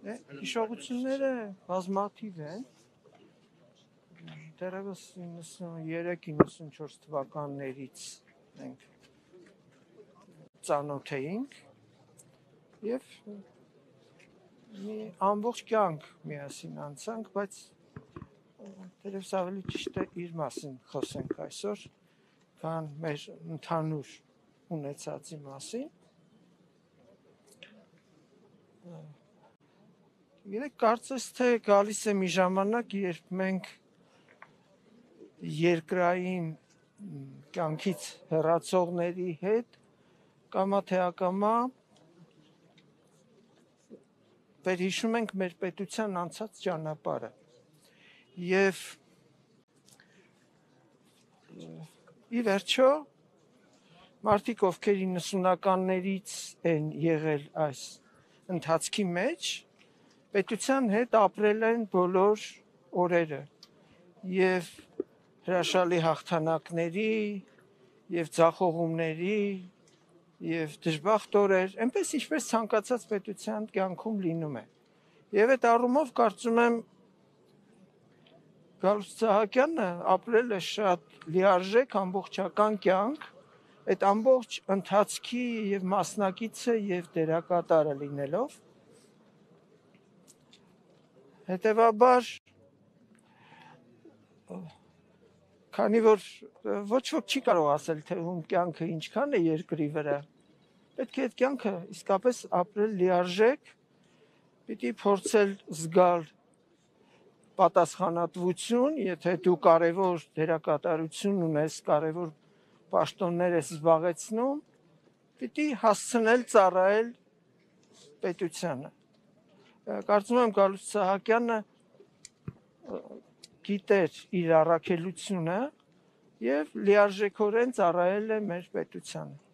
Հիշողությունները բազմաթիվ են, դեռևս 93-94 թվականներից մենք ծանոթ էինք և մի ամբողջ կյանք միասին անցանք, բայց դեռևս ավելի ճիշտ է իր մասին խոսենք այսօր, քան մեր ընդհանուր ունեցածի մասին։ Գիտեք, կարծես թե գալիս է մի ժամանակ, երբ մենք երկրային կյանքից հեռացողների հետ կամա թե ակամա վերհիշում ենք մեր պետության անցած ճանապարհը և ի վերջո մարդիկ, ովքեր 90-ականներից են եղել այս ընթացքի մեջ, պետության հետ ապրել են բոլոր օրերը և հրաշալի հաղթանակների և ձախողումների և դժբախտ օրեր, այնպես ինչպես ցանկացած պետության կյանքում լինում է։ Եվ այդ առումով կարծում եմ Գալուստ Սահակյանը ապրել է շատ լիարժեք ամբողջական կյանք, այդ ամբողջ ընթացքի և մասնակիցը և դերակատարը լինելով։ Հետևաբար, քանի որ ոչ ոք չի կարող ասել, թե ում կյանքը ինչքան է երկրի վրա, պետք է այդ կյանքը իսկապես ապրել լիարժեք, պիտի փորձել զգալ պատասխանատվություն, եթե դու կարևոր դերակատարություն ունես, կարևոր պաշտոններ ես զբաղեցնում, պիտի հասցնել ծառայել պետությանը։ Կարծում եմ Գալուստ Սահակյանը գիտեր իր առաքելությունը և լիարժեքորեն ծառայել է մեր պետությանը։